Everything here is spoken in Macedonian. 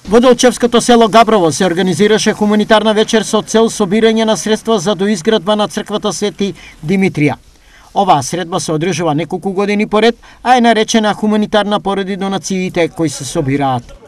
Во Делчевското село Габрово се организираше хуманитарна вечер со цел собирање на средства за доизградба на црквата Свети Димитрија. Оваа средба се одржува неколку години поред, а е наречена хуманитарна поради донациите кои се собираат.